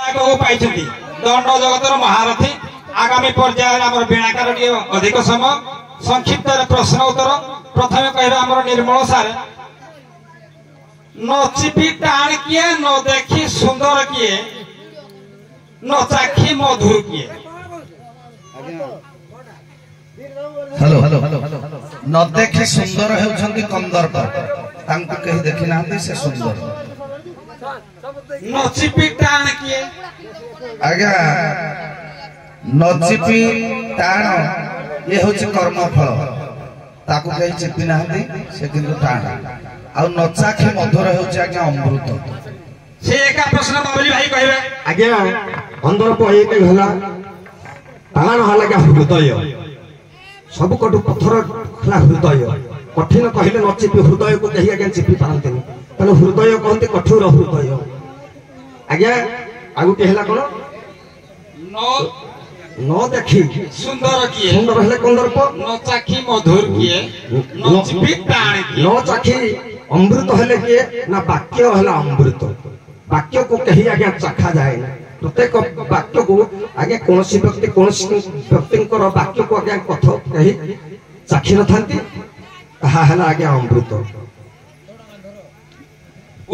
ଆଗକୁ ପାଇଛନ୍ତି ଦଣ୍ଡ ଜଗତର ମହାରଥୀ। ଆଗାମୀ ପର୍ଯ୍ୟାୟରେ ଆମର ବୀଣାକାର ଟିକେ ଅଧିକ ସମୟ ସଂକ୍ଷିପ୍ତରେ ପ୍ରଶ୍ନ ଉତ୍ତର। ପ୍ରଥମେ କହିବେ ଆମର ନିର୍ମଳ ସାର୍, ନ ଚିପି ଟାଣ କିଏ, ନ ଦେଖି ସୁନ୍ଦର କିଏ, ନ ଚାଖି ମଧୁର କିଏ? ହ୍ୟାଲୋ। ନ ଦେଖି ସୁନ୍ଦର ହେଉଛନ୍ତି କନ୍ଦର୍ପ, ତାଙ୍କୁ କେହି ଦେଖି ନାହାନ୍ତି, ସେ ସୁନ୍ଦର। ନ ଚିପି ଟାଣ କିଏ? ଆଜ୍ଞା, ନ ଚିପି ଟାଣ ଇଏ ହଉଛି କର୍ମଫଳ, ତାକୁ କେହି ଚିପି ନାହାନ୍ତି, ସେ କିନ୍ତୁ ଟାଣ। ଆଉ ନଚାଖି ମଧୁର ହେଉଛି ଆଜ୍ଞା ଅମୃତ। ସେ ଏକା ପ୍ରଶ୍ନ ବାବୁଲି ଭାଇ କହିବେ। ଆଜ୍ଞା, କନ୍ଦର୍ପ ଏକ ହେଲା, ଟାଣ ହେଲା ଆଜ୍ଞା ହୃଦୟ, ସବୁକଠୁ ପଥର ହେଲା ହୃଦୟ। କଠିନ କହିଲେ ନ ଚିପି ହୃଦୟକୁ କେହି ଆଜ୍ଞା ଚିପି ପାରନ୍ତିନି, ତେଣୁ ହୃଦୟ କହନ୍ତି କଠୋର ହୃଦୟ ଆଜ୍ଞା। ଆଉ ଗୋଟିଏ ହେଲା କଣ? ନ ଦେଖି ସୁନ୍ଦର କିଏ? ସୁନ୍ଦର ହେଲେ କନ୍ଦର୍ପ। ନ ଚାଖି ମଧୁର କିଏ? ନ ଚିପି ଟାଣ କିଏ? ନ ଚାଖି ଅମୃତ ହେଲେ କିଏ ନା ବାକ୍ୟ ହେଲା ଅମୃତ। ବାକ୍ୟକୁ କେହି ଆଜ୍ଞା ଚାଖା ଯାଏନି। ପ୍ରତ୍ୟେକ ବାକ୍ୟକୁ ଆଜ୍ଞା କୌଣସି ବ୍ୟକ୍ତି କୌଣସି ବ୍ୟକ୍ତିଙ୍କର ବାକ୍ୟକୁ ଆଜ୍ଞା କଥା କେହି ଚାଖି ନଥାନ୍ତି, ତାହା ହେଲା ଆଜ୍ଞା ଅମୃତ।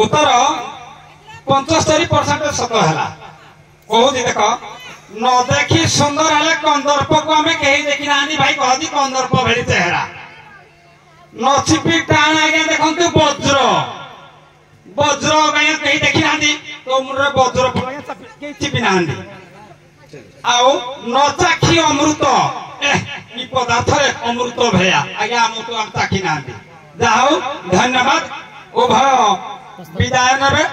ଉତ୍ତର 75% ସତ ହେଲା। କହୁଛି ଦେଖ, ନ ଦେଖି ସୁନ୍ଦର ହେଲେ କନ୍ଦର୍ପକୁ ଆମେ କେହି ଦେଖି ନାହାନ୍ତି, ଭାଇ କହନ୍ତି କନ୍ଦର୍ପ ଭଳି ଚେହେରା। ନ ଚିପି ଟାଣ ଆଜ୍ଞା ଦେଖନ୍ତୁ ବଜ୍ର, ବଜ୍ର ଆଜ୍ଞା କେହି ଦେଖି ନାହାନ୍ତି, ତୋ ମୁଣ୍ଡରେ ବଜ୍ର କେହି ଚିପି ନାହାନ୍ତି। ଆଉ ନ ଚାଖି ଅମୃତ, କି ପଦାର୍ଥରେ ଅମୃତ ଭଳିଆ ଆଜ୍ଞା ଆମକୁ ଆମେ ଚାଖି ନାହାନ୍ତି। ଯାହା ହଉ ଧନ୍ୟବାଦ, ଉଭୟ ବିଦାୟ ନେବେ।